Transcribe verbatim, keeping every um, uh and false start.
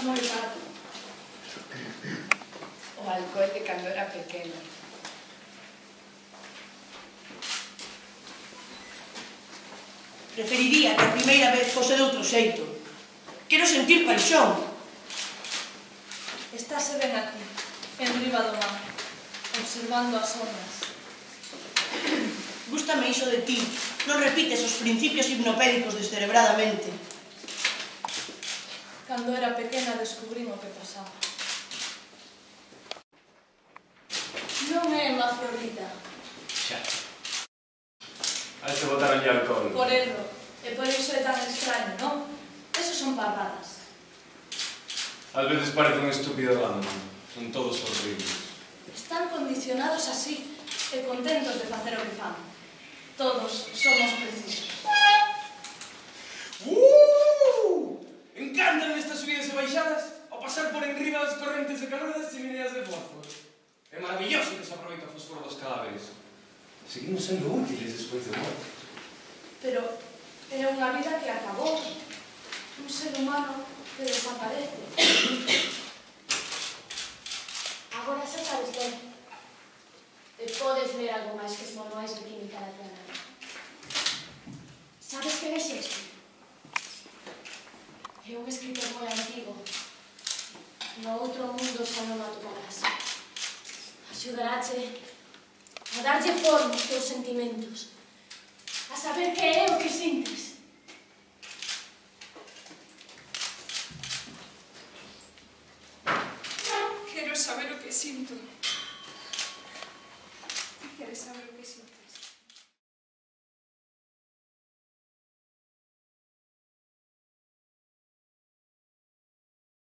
moi tarde. O alcohol de cando era pequena. Preferiría que a primeira vez fose de outro xeito. Quero sentir paixón. Estáse ben aquí, en riba do mar, observando as ondas. Gústame iso de ti. Non repites os principios hipnopédicos descerebradamente. Cando era pequena descubrín o que pasaba. Non é Mafrodita. Xa. Hai que botar allí alcohol. Por erro. E por iso é tan extraño, non? Esos son parradas. Ás veces parece un estúpido random. Son todos horribles. Están condicionados así e contentos de facer o que fan. Todos somos precisos. Uh! Encantan estas subidas e baixadas ao pasar por enriba das correntes de calor das chimineas de fósforo. É maravilloso que se aproveita o fósforo dos cadáveres. Seguimos sendo útiles despois de morte. Pero é unha vida que acabou. Un ser humano que desaparece. Agora xa sabes ler. E podes ler algo máis que os manuais de química da tua nai. Sabes quen é Shakespeare? É un escritor moi antigo. No outro mundo xa non a tocarás. Axudarache a darlle forma aos teus sentimentos. A saber que é o que sintes.